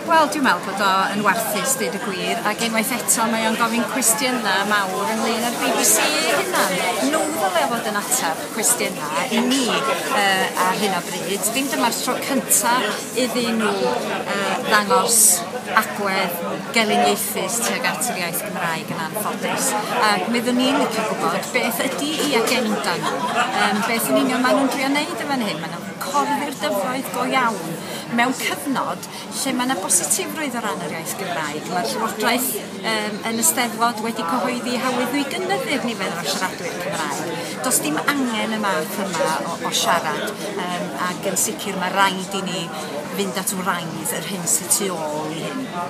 Wel, dwi'n meddwl bod o yn warthus, deud y gwir, ac unwaith eto mae o'n gofyn cwestiynau mawr ynglyn â'r BBC ei hunan. Nhw ddylai fod yn ateb cwestiynau i ni ar hyn o bryd. Dim dyma'r tro cyntaf iddyn nhw ddangos agwedd gelyniaethus tuag at yr iaith Gymraeg yn anffodus. Ac mi fyddwn ni'n licio gwybod beth ydy i agenda nhw, beth yn union maen nhw'n drio wneud yn fan hyn. Maen nhw'n corddi'r dyfroedd go iawn mewn cyfnod lle mae yna bositifrwydd o ran yr iaith Gymraeg. Mae'r Llywodraeth yn y Steddfod wedi cyhoeddi hawydd nhw i gynyddu'r nifer o siaradwyr Cymraeg. Does dim angen y math yma o siarad, ac yn sicr mae rhaid i ni fynd at wraidd yr hyn sydd tu ôl i hyn.